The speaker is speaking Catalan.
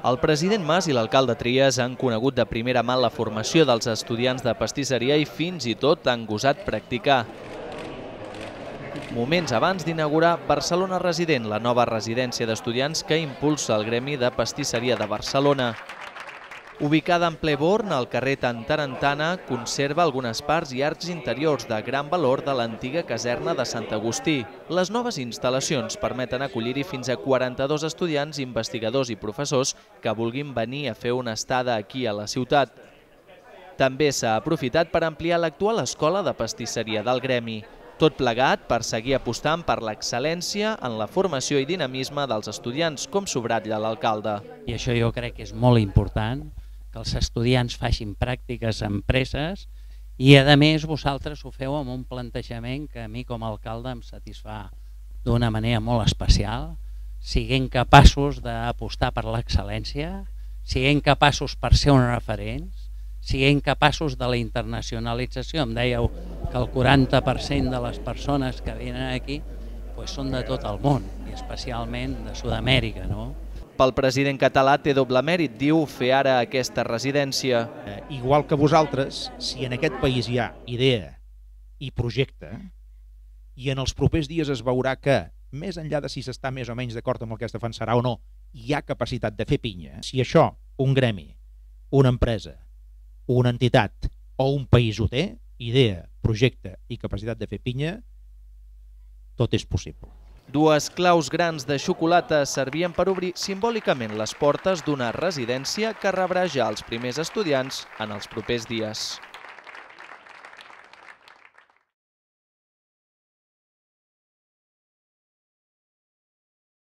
El president Mas i l'alcalde Trias han conegut de primera mà la formació dels estudiants de pastisseria i fins i tot han gosat practicar. Moments abans d'inaugurar Barcelona Resident, la nova residència d'estudiants que impulsa el Gremi de Pastisseria de Barcelona. Ubicada en ple Born, al carrer Tantarantana, conserva algunes parts i arcs interiors de gran valor de l'antiga caserna de Sant Agustí. Les noves instal·lacions permeten acollir-hi fins a 42 estudiants, investigadors i professors que vulguin venir a fer una estada aquí a la ciutat. També s'ha aprofitat per ampliar l'actual escola de pastisseria del Gremi. Tot plegat per seguir apostant per l'excel·lència en la formació i dinamisme dels estudiants, com subratlla l'alcalde. I això jo crec que és molt important, que els estudiants facin pràctiques a empreses i, a més, vosaltres ho feu amb un plantejament que a mi com a alcalde em satisfà d'una manera molt especial. Siguem capaços d'apostar per l'excel·lència, siguem capaços per ser uns referents, siguem capaços de la internacionalització. Em dèieu que el 40% de les persones que venen aquí són de tot el món, i especialment de Sud-amèrica, no? Pel president català té doble mèrit, diu, fer ara aquesta residència. Igual que vosaltres, si en aquest país hi ha idea i projecte, i en els propers dies es veurà que, més enllà de si s'està més o menys d'acord amb el que es defensarà o no, hi ha capacitat de fer pinya, si això, un gremi, una empresa, una entitat o un país ho té, idea, projecte i capacitat de fer pinya, tot és possible. Dues claus grans de xocolata servien per obrir simbòlicament les portes d'una residència que rebrà ja els primers estudiants en els propers dies.